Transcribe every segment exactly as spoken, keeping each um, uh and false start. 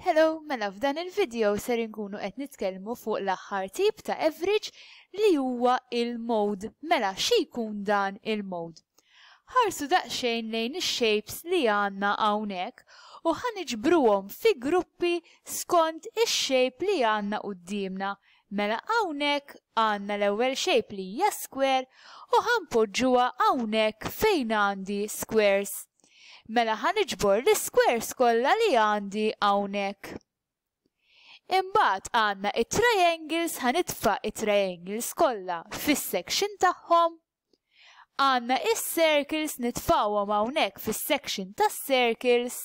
Hello, mela f'dan il-video ser inkunu qed nitkellmu fuq l-aħħar tip ta' average li huwa il-mode. Mela xi jkun dan il-mode? Ħarsu daqsxejn lejn ix-shapes li għandna hawnhekk u ħa niġbruhom fi gruppi skont ix-shape li għandna quddiemna. Mela hawnhekk għandna l-ewwel shape li hija square u ħa npoġġuha hawnhekk fejn għandi squares. Mela ħa niġbor l-squares kollha li għandi hawnhekk. Imbagħad għandna it-triangles, ħa nitfa' it-triangles kollha fis-section tagħhom. Għandna is-circles, nitfgħuhom hawnhekk fis-section tas-circles.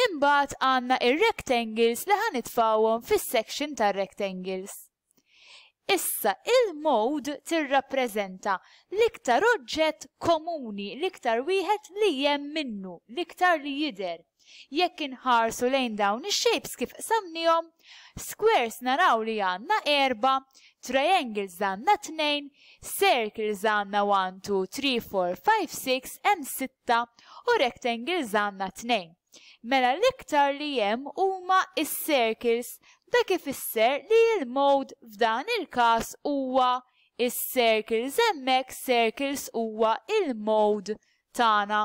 Imbagħad għandna ir-rectangles li ħa nitfgħuhom fis-section tar-rectangles. Issa il-mode tirrappreżenta l-iktar oġġett komuni, l-iktar wieħed li hemm minnu, l-iktar li jidher. Jekk inħarsu lejn dawn ix-shapes kif qsamnihom, squares naraw li għandna erba, triangles għandna tnejn, circles għandna one, two, three, four, five, six, hemm sitta u rectangles għandna tnejn. Mela l-iktar li hemm huma is-circles, dak ifisser li l-mode f'dan il-każ huwa is-circles, hemmhekk circles huwa il-mode tagħna.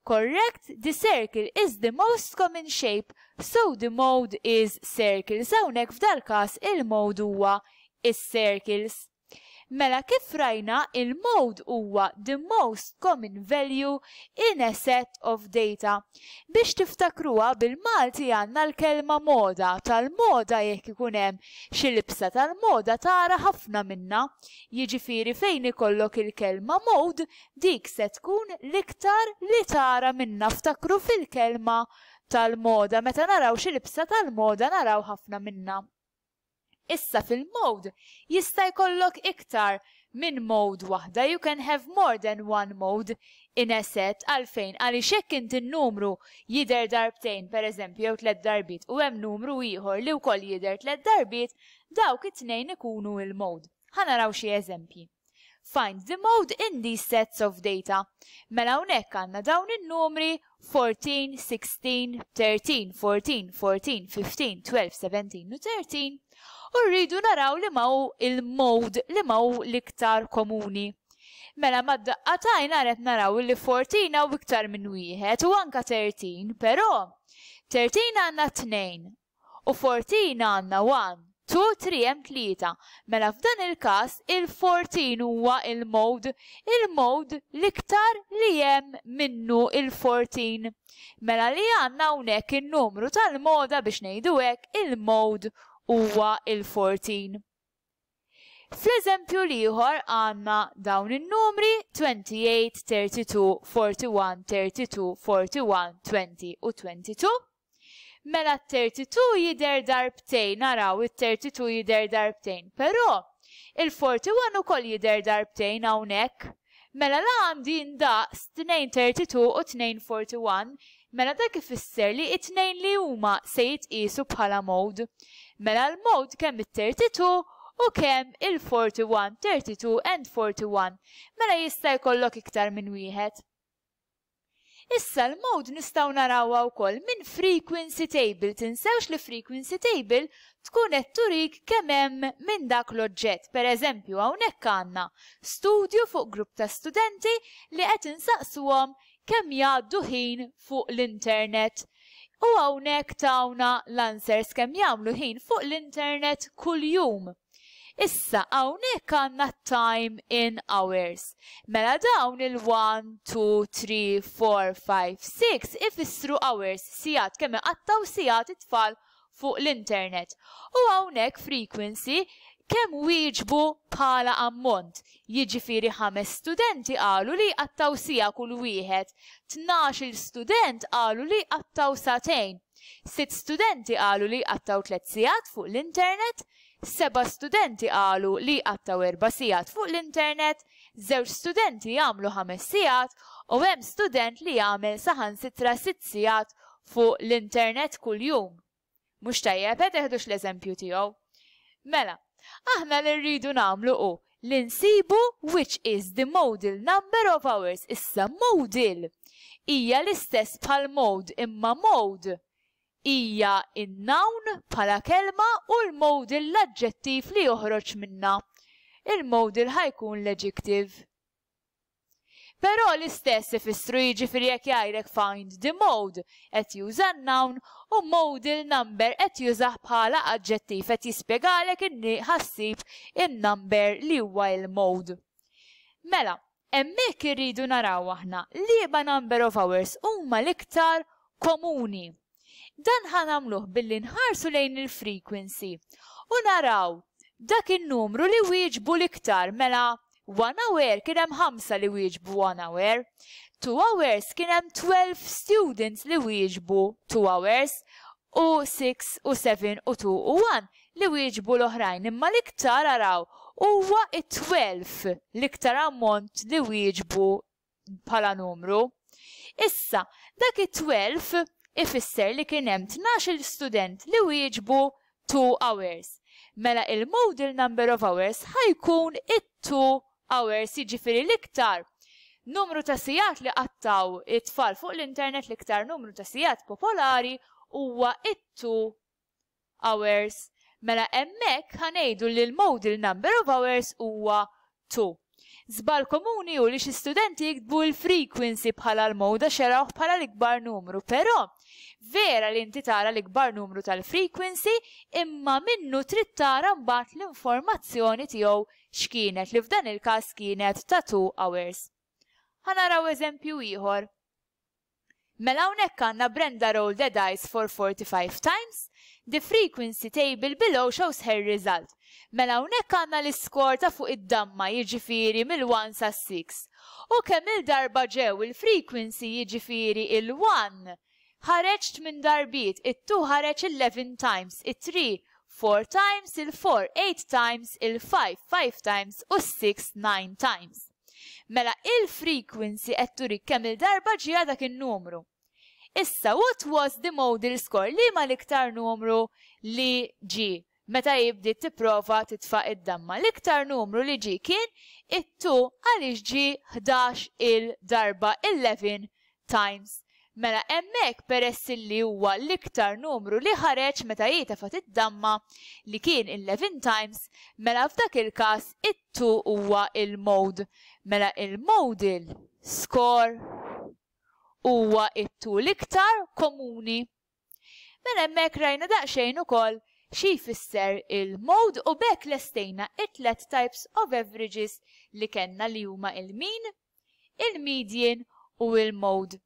Correct, the circle is the most common shape, so the mode is circles. Hawnhekk f'dal-każ il-mode huwa is-circles. Mela kif rajna, il-mode huwa the most common value in a set of data. Biex tiftakruha bil-Malti għandna l-kelma moda. Tal-moda, jekk ikun hemm xi libsa tal-moda tara ħafna minna. Jiġifieri fejn ikollok il-kelma mode, dik se tkun l-iktar li tara minna. Ftakru fil-kelma tal-moda. Meta naraw xi libsa tal-moda naraw ħafna minna. Issa fil-mode jista' jkollok iktar minn mode waħda. You can have more than one mode in a set. Għalfejn? Għaliex jekk inti n-numru jidher darbtejn, per eżempju, jew tliet darbiet, u hemm numru ieħor li wkoll jidher tliet darbiet, dawk it-tnejn ikunu il-mode. Ħa naraw xi eżempji. Find the mode in these sets of data. Mela hawnhekk għandna dawn in-numri fourteen, sixteen, thirteen, fourteen, fourteen, fifteen, twelve, seventeen u thirteen u rridu naraw li ma hu il-mode, li ma hu l-iktar komuni. Mela mad-daqqa t'għajn qed naraw li fourteen hawn iktar minn wieħed u anka thirteen, però thirteen għandna tnejn u fourteen għandna one, two, three, hemm tlieta. Mela f'dan il-każ il-fourteen huwa il-mode, il-mode l-iktar li hemm minnu il-fourteen. Mela li għandna hawnhekk in-numru tal-moda, biex ngħidu hekk, il-mode huwa il-fourteen. Fl-eżempju l-ieħor għandna dawn in-numri twenty-eight, thirty-two, forty-one, thirty-two, forty-one, twenty u twenty-two. Mela thirty-two jidher darbtejn, naraw it-thirty-two jidher darbtejn, però il-forty-one ukoll jidher darbtejn hawnhekk. Mela la għandi ndaqs tnejn thirty-two u tnejn forty-one, mela dak ifisser li it-tnejn li huma se jitqiesu bħala mode. Mela l-mode kemm it-thirty-two u kemm il-forty-one, thirty-two and forty-one. Mela jista' jkollok iktar minn wieħed. Issa l-mode nistgħu narawha wkoll minn frequency table. Tinsewx li frequency table tkun qed turik kemm hemm minn dak l-oġġett. Per eżempju, hawnhekk għandna studju fuq grupp ta' studenti li qed insaqsuhom kemm jgħaddu ħin fuq l-internet. U hawnhekk tawna l-answers, kemm jagħmlu ħin fuq l-internet kuljum. Issa hawnhekk għandna time in hours. Mela dawn il-one, two, three, four, five, six ifissru hours, sigħat, kemm iqattgħu sigħat it-tfal fuq l-internet. U hawnhekk frequency, kemm wieġbu bħala ammont. Jiġifieri ħames studenti qalu li jqattgħu siegħa kull wieħed, tnax-il student qalu li jqattgħu sagħtejn, sitt studenti qalu li jqattgħu tliet sigħat fuq l-internet, seba' studenti qalu li jqattgħu erba' sigħat fuq l-internet, żewġ studenti jagħmlu ħames sigħat u hemm student li jagħmel saħansitra sitt sigħat fuq l-internet kuljum. Mhux tajjeb, qed teħdux l-eżempju tiegħu. Mela, aħna li rridu nagħmlu hu li nsibu which is the modal number of hours. Issa modal hija l-istess bħal mode, imma mode hija in-noun bħala kelma u l-modal l-aġġettiv li joħroġ minna. Il-modal ħa jkun l-adjective. Però l-istess ifissru, jiġifieri jekk jgħidlek "find the mode", qed juża noun u modal number qed jużah bħala aġġettiv, qed jispjegalek inni ħa ssib in-number li huwa il-mode. Mela, hemmhekk irridu naraw aħna liema number of hours huma l-iktar komuni. Dan ħa nagħmluh billi nħarsu lejn il-frequency u naraw dak in-numru li wieġbu l-iktar. Mela, one hour kien hemm ħamsa li wieġbu one hour. Two hours kien hemm twelve students li wieġbu two hours u six u seven u two u one li wieġbu l-oħrajn. Imma l-iktar, araw, huwa it-twelve l-iktar ammont li wieġbu bħala numru. Issa, dak it-twelve ifisser li kien hemm tnax-il student li wieġbu two hours. Mela il-modal number of hours ħa jkun it-two hours, jiġifieri l-iktar numru ta' sigħat li qattaw it-tfal fuq l-internet, l-iktar numru ta' sigħat popolari huwa it-two hours. Mela hemmhekk ħa ngħidu li l-modal number of hours huwa two. Żball komuni hu li xi studenti jiktbu l-frequency bħala l-mode għax jarawh bħala l-ikbar numru, però vera li inti tara l-ikbar numru tal-frequency, imma minnu trid tara mbagħad l-informazzjoni tiegħu x'kienet, li f'dan il-każ kienet ta' two hours. Ħa naraw eżempju ieħor. Mela hawnhekk għandna Brenda rolled the dice for forty-five times. The frequency table below shows her result. Mela hawnhekk għandna l-iskor ta' fuq id-damma, jiġifieri mill-one sa six. U kemm il-darba ġew il-frequency, jiġifieri il-one ħareġ tmien darbiet, it-two ħareġ eleven times, it-three four times, il-four eight times, il-five five times u six nine times. Mela il-frequency qed turik kemm il-darba ġie dak in-numru. Issa, what was the modal score? Liema l-iktar numru li ġie meta bdiet tipprova titfa' id-damma? L-iktar numru li ġie kien it-two għaliex ġie ħdax il-darba, eleven times. Mela hemmhekk, peress li huwa l-iktar numru li ħareġ meta tefgħet id-damma, li kien eleven times, mela f'dak il-każ it-two huwa il-mode. Mela il-modal score huwa it-two, l-iktar komuni. Mela hemmhekk rajna daqsxejn ukoll xi jfisser il-mode u b'hekk lestejna it-tlet types of averages li kellna, li huma il-mean, il-median u il-mode.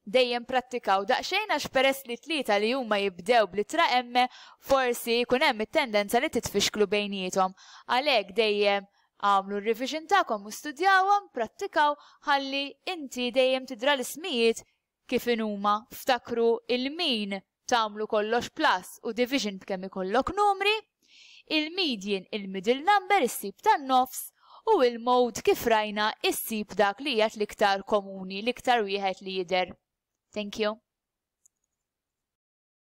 Dejjem prattikaw daqsxejn għax peress li tlieta li huma jibdew bl-ittra M, forsi jkun hemm it-tendenza li titfixklu bejniethom. Għalhekk dejjem għamlu r-revision tagħkom u studjawhom, prattikaw ħalli inti dejjem tidra l-ismijiet kif inhuma. Ftakru, il-mean tagħmlu kollox plus u division b'kemm ikollok numri, il-median il-middle number, issib tan-nofs, u il-mode, kif rajna, issib dak li qiegħed l-iktar komuni, l-iktar wieħed li jidher. Thank you.